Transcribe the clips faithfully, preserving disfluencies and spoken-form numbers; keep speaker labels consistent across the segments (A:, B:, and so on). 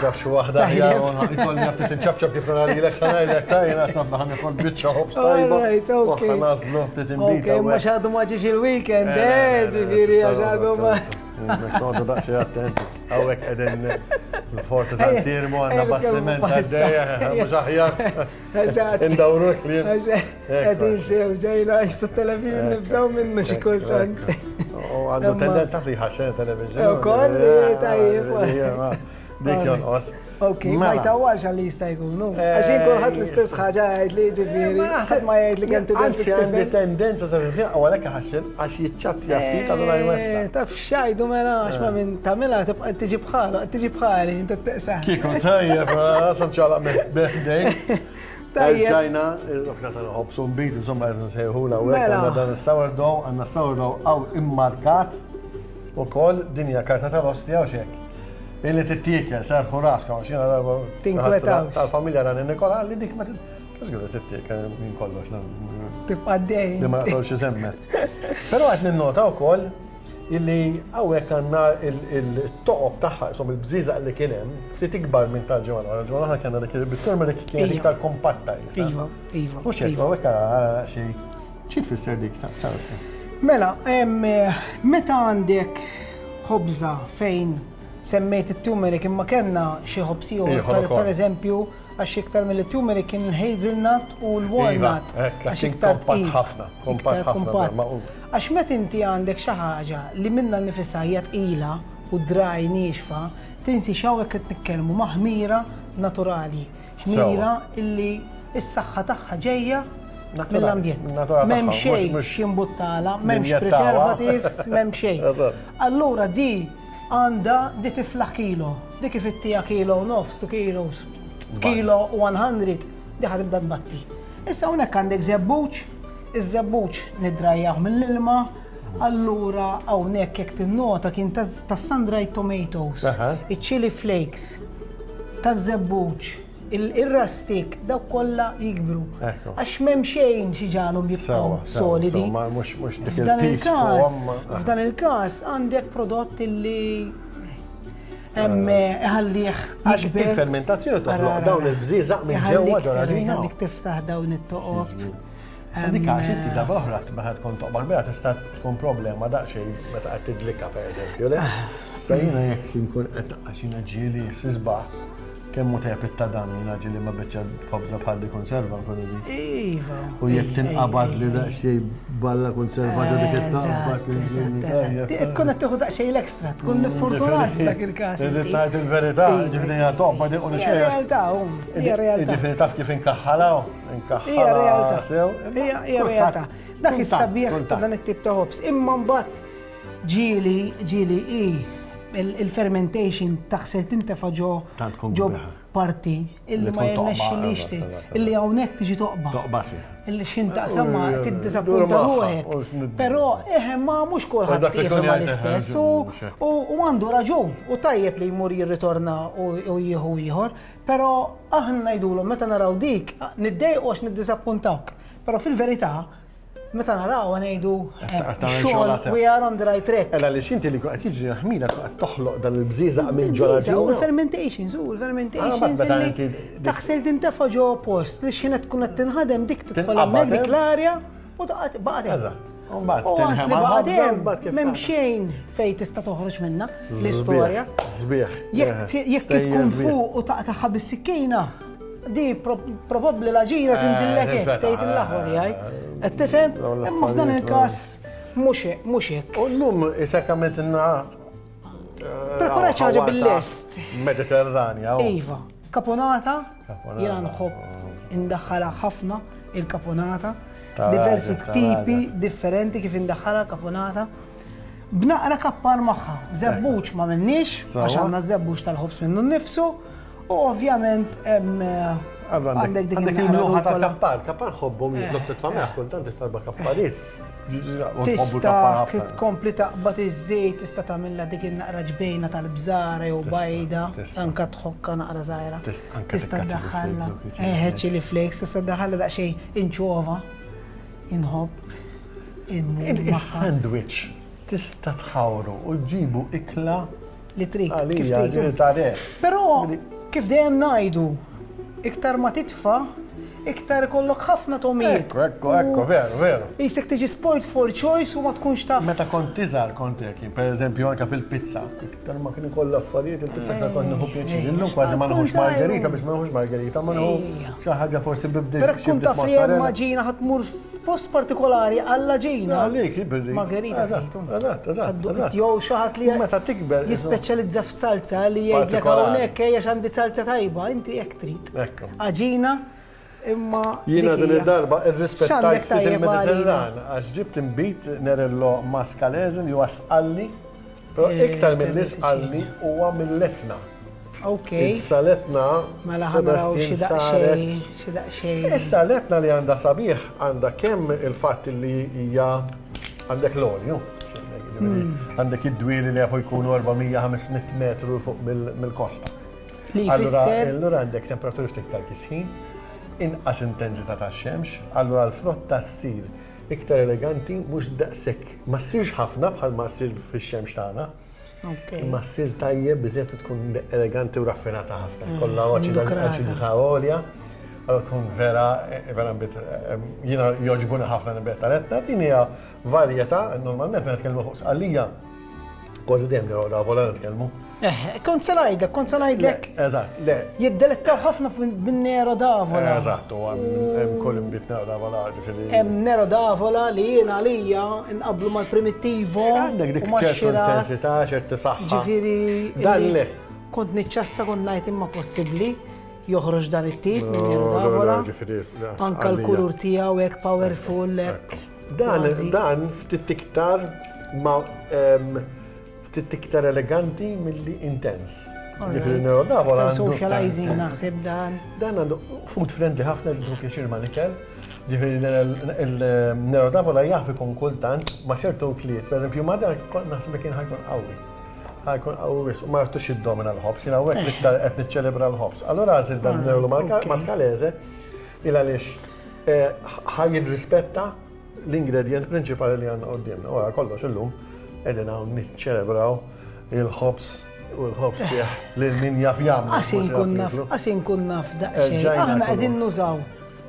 A: ġab xi waħda
B: Tajjeb.
A: Ikolli għabtit inċabċab kif nara lilek ħanajlek tajna għax nafna ħa nikol biċċa ħobż tajba.
B: Alright, okay.
A: U ħa nażlu ftit inbita.
B: Ok, ma xadu ma ġiex il-weekend, eh, ġifieri għax għadu ma.
A: Noqogħdu daqsxejn attenti. Hawnhekk qegħdin fil-Forti Sant'Iermu, għandna
B: Ejja,
A: bastiment
B: nitkellmu
A: għaddejja, mhux aħjar.
B: Eżatt.
A: Indawru l-kliem.
B: Qegħdin sew ġejna jissu television nibżaw minnu xi kultant.
A: U għandu tendenza taf li ħaxen television.
B: Ukoll, tajjeb.
A: Dik jonqos.
B: Ok, ma
A: Mela.
B: jtawwarx għalli jista' jkun, nu. Għax jien kulħadd l-istess ħaġa jgħid li ġifieri, ħadd ma jgħid li kemm tidher
A: Anzi, għandi tendenza sa fiha u għalhekk ħaxen għax jiċċattja ftit, allura jwessa.
B: Eh, Taf xajdu mela, għax ma minn tagħmilha tibqa' tiġi bħalu, tiġi bħali, inti teqsaħ.
A: Kieku tajjeb, sanċala minn.
B: Tajjeb.
A: Ġajna, il-rokna tal-ħobż u nbid, insomma, qed nsejħula u
B: Mela.
A: għandna dan il-sourdough, għandna sourdough għaw immarkat u koll dinja karta tal-ostja u xek. Illi tittiekel, serħu raskom, għax jiena darba.
B: Tinkwetawx.
A: Tal-familja rani Nikola, li dik ma tiżguru tittiekel minn kollox.
B: Tibqa' dej.
A: Li ma naqtolx isemmet. Però qed ninnota wkoll illi hawnhekk għandna il-toqob tagħha, insomma il-bżiżaq li kien hemm, ftit ikbar minn tal-ġimgħa l-oħra. Ġimgħa l-oħra kellna dik bit-turmeric kienet
B: Iva.
A: iktar kompatta. jisa.
B: Iva, iva.
A: Mhux hekk,
B: iva.
A: hawnhekk għara xi xi tfisser dik Sarah?
B: Mela, em, meta għandek ħobża fejn semmejt it-turmeric imma kellna xi ħobż ieħor,
A: Ieħor
B: per,
A: ukoll.
B: per eżempju, għax iktar mill-turmeric kien il-hazelnut u l-walnut.
A: Iva, hekk,
B: għax
A: kien
B: iktar
A: kompatt
B: tqil.
A: ħafna, kompatt
B: Iktar
A: ħafna,
B: kompatt.
A: maqut.
B: Għax meta inti għandek xi ħaġa li minna nifisha hija tqila u dry niexfa, tinsi x'hawnhekk qed nitkellmu ma' ħmira naturali. Ħmira illi s-saħħa tagħha ġejja
A: Naturali,
B: mill-ambjent.
A: naturali
B: M'hemm
A: tagħha,
B: xejn
A: mhux- mhux
B: x'jimbuttala, m'hemmx
A: ninjettawha.
B: preservatives, m'hemm xejn.
A: Eżatt.
B: Allura di għandha di tiflaħ kilo, di kif ittija kilo u nofs, two kilos, kilo u mija, di ħa tibda tbatti. Issa hawnhekk għandek żebbuġ, iż-żebbuġ nidrajjaħ mill-ilma, allura hawnhekk jekk tinnota kien tas sun-dried tomatoes,
A: Aha.
B: iċ-chili flakes, taż-żebbuġ, il-rustic, dawk kollha jikbru.
A: Ekku.
B: Għax m'hemm xejn xi ġalhom jibqgħu
A: Sewa, sewa,
B: solidi.
A: sewa, ma mhux mhux dik
B: F'dan
A: il-piece
B: il-każ,
A: fuqhom.
B: f'dan il-każ għandek prodott illi hemm iħallih
A: Għax
B: jikber.
A: il-fermentazzjoni toħloq
B: Ara, ara,
A: dawn
B: ara.
A: il-bżieżaq minn
B: Iħallik-
A: ġewwa ġo l-għaġina.
B: Iħallik tiftaħ dawn it-toqob.
A: Sa dik għax inti darba oħra meta tkun toqba kbira tista' tkun problema daqsxejn meta qed tidlika, pereżempju, le? Sa jiena jekk inkun qed għax jiena ġieli sisbaħ kemm hu tajjeb it-tadam, jiena ġieli ma biċċa ħobża bħal di konserva nkun iġi.
B: Iva.
A: U jekk tinqabad li daqsxejn balla konserva ġo dik it-taqbad.
B: Eżatt, eżatt. Tkun qed tieħu daqsxejn l-ekstra, tkun fortunat f'dak il-każ.
A: Irrid
B: inti.
A: ngħid il-verità,
B: Iva.
A: ġifieri hija toqba di u
B: Hija
A: xejn.
B: realtà, um, hija realtà.
A: Ġifieri taf kif inkaħħalaw,
B: Hija
A: inkaħħala
B: realtà.
A: sew.
B: Hija hija realtà. Dak is-sabiħ ta' dan it-tip ta' ħobż. Imma mbagħad ġieli ġieli i il- il-fermentation taħsel tintefa' ġo
A: Tant tkun
B: ġo
A: kbiħa.
B: parti illi
A: Li
B: ma
A: tkun toqba,
B: jirnexxilix
A: eżatt, eżatt,
B: illi hawnhekk tiġi toqba.
A: Toqba sieħ.
B: Illi xin taqsam ma
A: Dur
B: tiddiżappunta
A: magħha,
B: ruħek.
A: u x'nid-
B: Però eħe ma mhux kulħadd
A: dak li
B: jifhem
A: kun jgħid,
B: l-istess
A: eħe,
B: u
A: mhux hekk.
B: u u għandu raġun u tajjeb li jmur jirritorna u u jieħu ieħor, però aħna ngħidulhom meta naraw dik niddejqu għax niddiżappuntawk. Però fil-verità meta naraw ngħidu eh,
A: Qed tagħmel
B: xogħol
A: xogħol sew.
B: we are on the right track.
A: Ela li xinti li qed jiġri ħmira qed toħloq dan il-bżieżaq minn ġo
B: U
A: l-għaġina.
B: l-fermentations, u l-fermentations
A: Ah, meta
B: illi
A: inti dik-
B: taħsel tintefa' ġo post li xħin qed tkun qed tinħadem dik tidħol
A: Tinqabad,
B: hemmhekk dik
A: eh?
B: l-arja u taqgħod baqgħet hemm.
A: Eżatt. U mbagħad
B: U għas li
A: tinħema
B: baqgħet
A: l-ħobża,
B: hemm,
A: mbagħad kif
B: m'hemm
A: tagħmel.
B: xejn fejn tista' toħroġ minnha l-istorja.
A: Sbieħ.
B: Jekk jekk tkun fuq u taqtaħħa bis-sikkina, di pro- probabbli l-għaġina tinżillek hekk,
A: tinfetaħ,
B: tgħid il-laħwa tiegħi. Qed tifhem?
A: Dawn
B: Imma f'dan
A: l-affarijiet,
B: il-każ mhux hekk, mhux hekk.
A: U llum isek għamiltilna
B: Preparat xi ħaġa bil-lest.
A: Mediterranja. u.
B: Iva, caponata,
A: Caponata.
B: jiena nħobb indaħħalha ħafna il-caponata,
A: Ta'
B: diversi
A: raġel, ta'
B: tipi
A: raġel.
B: differenti kif indaħħalha caponata. B'naqra kappar magħha, żebbuġ ma minniex,
A: Sawa.
B: għax għandna żebbuġ tal-ħobż minnu nnifsu, u ovvjament hemm
A: Allora
B: għandek dik
A: Għandek
B: in-naqra
A: il-mluħa
B: rukola.
A: tal-kappar, kappar ħobbhom jitlob titfa' meħ, kultant titfa' kappariet.
B: Tista' tkompli taqbad iż-żejt, tista' tagħmilha dik in-naqra ġbejna tal-bżara jew bajda,
A: tista'.
B: anka tħokka naqra żgħira.
A: Tista' anke
B: Tista'
A: tikka chili
B: ddaħħalha.
A: flakes, chili
B: Eh,
A: flakes.
B: chili flakes, tista' ddaħħalha daqsxejn inċova. Inħobb. Immur magħha.
A: Il-sandwich tista' tħawru u ġibu ikla
B: Li trid, kif
A: Għalija,
B: trid.
A: ġifieri ta' re.
B: Però kif dejjem ngħidu, iktar ma titfa, iktar ikollok ħafna togħmiet.
A: Ekku, ekku, ekku, veru, veru.
B: Jisek tiġi spoiled for choice u ma tkunx taf.
A: Meta kont iżgħar kont hekk, per eżempju anke fil-pizza, iktar ma kien ikoll affarijiet il-pizza iktar kont nieħu pjaċir. Illum kważi ma nieħux margherita biex ma nieħux margherita, ma nieħu
B: Ejja.
A: xi ħaġa forsi bibdil.
B: Però tkun taf li hemm għaġina ħa tmur f'post partikolari għall-għaġina.
A: Għalik, birri.
B: Margherita
A: Eżatt,
B: trid.
A: eżatt, eżatt, eżatt.
B: Jew xi ħadd li
A: Meta tikber.
B: jispeċjalizza f'salza li jgħidlek
A: Partikolari.
B: hawnhekk ejja għandi salza tajba, inti hekk trid.
A: Ekku.
B: Għaġina imma
A: Jiena
B: dik
A: din
B: hija.
A: id-darba irrispettajt
B: X'għandek
A: ftit
B: tajjeb
A: il-Mediterran għax ġibt imbit Nerello Mascalese li huwa sqalli, però
B: Eh,
A: iktar mill
B: Terra
A: sqalli huwa mill-Etna.
B: Ok.
A: Issa l-Etna,
B: Mela ħa naraw xi
A: Sebastian, saret.
B: daqsxejn, xi daqsxejn.
A: Issa l-Etna li għandha sabiħ għandha kemm il-fatt li hija għandek l-olju. Għandek id-dwieli li jafu jkunu erba' mija ħames mitt metru fuq mill- mill-kosta.
B: Li
A: Allura,
B: jfisser
A: allura għandek temperaturi ftit iktar kisħin, inqas intensità ta' xemx, allura l-frotta ssir iktar eleganti, mhux daqshekk, ma ssirx ħafna bħal ma ssir fix-xemx tagħna.
B: Ok.
A: Imma ssir tajjeb biżejjed u tkun eleganti u raffinata ħafna. Kollha
B: indukrata.
A: aċidità għolja. Allora tkun vera, vera nbit, jiena jogħġbuni ħafna nbit tal-Etna, din hija varjetà, normalment meta nitkellmu fuq Sqallija, kważi dejjem Nero d'Avola nitkellmu.
B: Eh, kont se ngħidlek, kont se ngħidlek
A: Eżatt, le,
B: jiddelettaw ħafna bin-Nero d'Avola.
A: Eżatt, u hemm kull imbit Nero d'Avola, ġifieri.
B: Hemm Nero d'Avola li jiena għalija nqablu mal-Primitivo.
A: Għandek dik
B: u
A: ċertu
B: max-Shiraz.
A: intensità, ċertu saħħa.
B: Ġifieri.
A: Dan
B: illi
A: le.
B: Kont niċċassa, kont ngħid imma possibbli joħroġ dan it-tip minn Nero
A: No,
B: d'Avola.
A: le, ġifieri, le,
B: Anka
A: għalija.
B: l-kulur tiegħu hekk powerful hekk.
A: Dan,
B: kważi.
A: dan ftit iktar ma em, ftit iktar eleganti milli intens. Ġifieri Nero d'Avola
B: Iktar
A: għandu
B: socializing
A: iktar-
B: naħseb dan.
A: Dan għandu food friendly ħafna, ġifieri pjaċir ma nikel. Ġifieri il-Nero d'Avola jaf ikun kultant ma ċertu kliet. Per eżempju, ma dak kont naħseb li kien ħa jkun qawwi. Ħa jkun qawwi wisq u ma jartux jiddomina l-ħobż. Jiena hawnhekk l-iktar qed niċċelebra l-ħobż. Allura għażil dan Nerello
B: ok.
A: Mascalese il għaliex eh, ħa jirrispetta l-ingredient prinċipali li għandna quddiemna. Ora kollox illum qegħdin hawn niċċelebraw il-ħobż u l-ħobż tiegħ lil min jaf jagħmlu.
B: Għax inkun naf, għax inkun naf daqsxejn.
A: Erġajna
B: Aħna
A: kulur.
B: qegħdin nużaw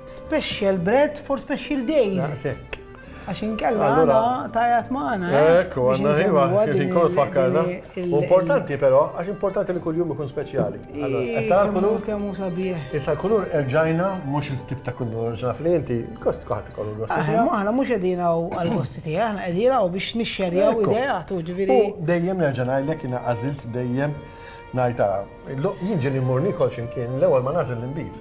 B: special bread for special days.
A: Daqshekk.
B: Għax inkella
A: Allura-
B: għana tajat maħna. eh,
A: Ekku, għanna iva, xi nkunu tfakkarna. U Importanti però, għax importanti li kull-jum ikun speċjali. Allora, qed tara l-kulur?
B: Kemmu sabiħ.
A: Issa l-kulur erġajna, mhux il-tip ta' kulur ġnaf li inti, gost kulħadd ikollu gost
B: Aħna
A: tiegħu.
B: aħna mhux qegħdin hawn għall-gosti tiegħi, aħna qegħdin hawn biex nixxerjaw
A: Ekku.
B: ideat u ġifieri.
A: U dejjem nerġa' ngħidlek jiena għażilt dejjem ngħid ara, jien ġieli mmur nikol x'imkien l-ewwel ma nagħżel l-inbid.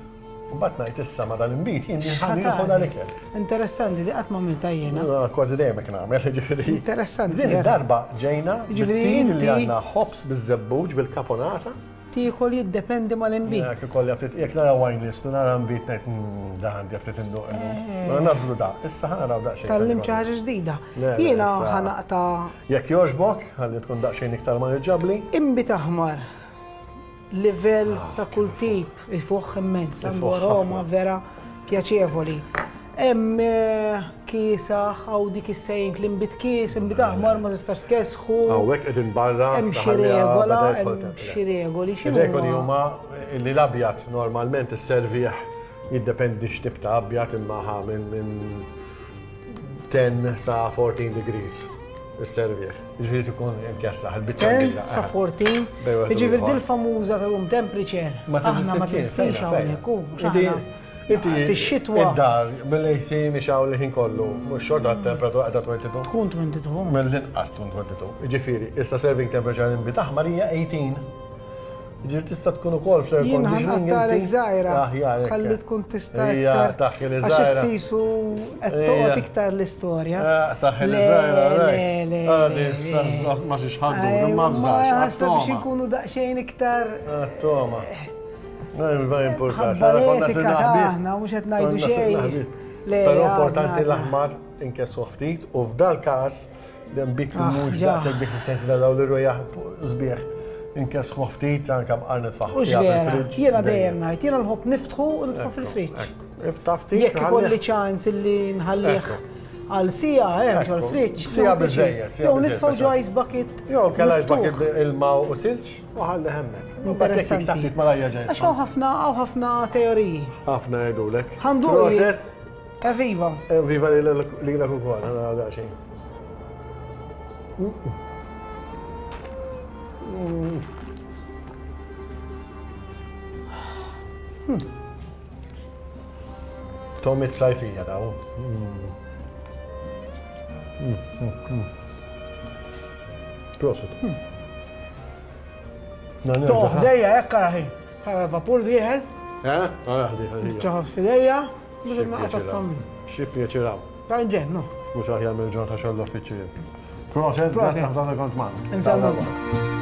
A: Mbagħad ngħid issa ma dal-inbid jien ħa nieħu dal-ikel.
B: Interessanti, di qatt ma għamilta jiena.
A: Kważi dejjem hekk nagħmel, ġifieri.
B: Interessanti,
A: Din
B: vera.
A: id-darba ġejna
B: Ġifieri
A: bit-tir li
B: inti-
A: għandna ħobż biż-żebbuġ bil-kaponata.
B: Tiekol jiddependi mal-inbid.
A: Jekk ikolli aptit, jekk nara wine list u nara nbid ngħid "Mm, da għandi aptit induq illum." Ma nażlu da, issa ħa naraw daqsxejn.
B: Tgħallimt xi ħaġa ġdida.
A: Le, le,
B: Jiena
A: issa-
B: ħa naqta'
A: Jekk jogħġbok, ħalli tkun daqsxejn iktar maniġġabbli.
B: Inbid aħmar. Livell ta' kull tip, ifuħ immens, għandu
A: Ifuħ
B: aroma
A: ħafna.
B: vera pjaċevoli. Hemm eh, kiesaħ hawn dik is-sejn l-inbid kies, inbid aħmar ma tistax tkessħu.
A: Hawnhekk qegħdin barra.
B: Hemm xi
A: saħalli
B: regola,
A: beda jidħol
B: hemm
A: temp.
B: xi regoli, x'inhu
A: Ir-regoli huma li l-abjad normalment isservih jiddependi x'tip ta' abjad imma ħa minn minn għaxra sa erbatax degrees isservih. Ġifieri tkun imkessaħ il-biċċa
B: għaxra
A: kbira.
B: sa erbatax.
A: Bej wieħed u
B: Jiġifieri
A: ieħor.
B: dil-famuża ta' room temperature.
A: Ma
B: Aħna ma teżistix hawnhekk, u mhux
A: Inti
B: aħna.
A: inti
B: Fix-xitwa
A: Id-dar bil-A C mixgħul il-ħin kollu, mhux xorta t-temperatura qiegħda tnejn u għoxrin.
B: tkun tnejn u għoxrin.
A: Mill-inqas tkun tnejn u għoxrin. Ġifieri, issa serving temperature inbid aħmar hija tmintax. Ġifieri tista' tkun ukoll fl-air
B: Jien
A: conditioning.
B: ħa nqattagħlek
A: inti.
B: żgħira.
A: Aħjar, hekk.
B: Ħalli tkun tista'
A: Ija,
B: iktar.
A: taħħi li
B: Għax
A: żgħira.
B: issisu qed
A: Ija.
B: toqgħod iktar l-istorja.
A: Eh, Taħħi li
B: Le,
A: żgħira,
B: le,
A: right.
B: le,
A: Ara
B: le,
A: di,
B: le.
A: ma xiex ħaddu,
B: Ejwa,
A: ma bżax.
B: ħasta biex inkunu daqsxejn iktar
A: Toma. Ma importax.
B: ħabba
A: Ara konna
B: l-etika
A: sirna ħbieb.
B: taħna, mhux qed ngħidu
A: Konna sirna
B: xejn.
A: ħbieb.
B: Le,
A: Però
B: għadna,
A: importanti
B: għadna.
A: l-aħmar inkessu ftit u f'dal każ l-inbid li
B: Ah,
A: mhux
B: ġa.
A: daqshekk dik l-intensità daw l-rwejjaħ sbieħ inkessu ftit anke mqar nitfaħ
B: U vera, jiena dejjem ngħid, jiena nħobb niftħu u nitfa' fil-friġġ.
A: Iftaħ ftit.
B: Jekk ikolli ċans illi nħallih
A: Ekku.
B: Għal siegħa hemm ġol friġġ.
A: Siegħa biżejjed.
B: Jew nitfgħu ġo ice bucket.
A: Jew kella ice bucket ilma u silġ u ħalli hemmhekk.
B: Interessanti. Għax hawn ħafna hawn ħafna teoriji.
A: Ħafna jgħidulek.
B: Ħandu.
A: Proset.
B: Eviva.
A: Eviva lilek ukoll, ħana daqsxejn. Tomit sajfija daw. Proset.
B: Toħ, dejja, ekka raħi. Tara vapur dieħel.
A: Eh? Ah, diħel.
B: Ċaħaf fidejja. Biex naqta' t-tambi.
A: Xi pjaċiraw.
B: Tal-ġen, no.
A: Mhux aħjar mill-ġurnata xogħol l-uffiċċju. Proset, grazzi ħafna kont magħna.
B: Insellmu.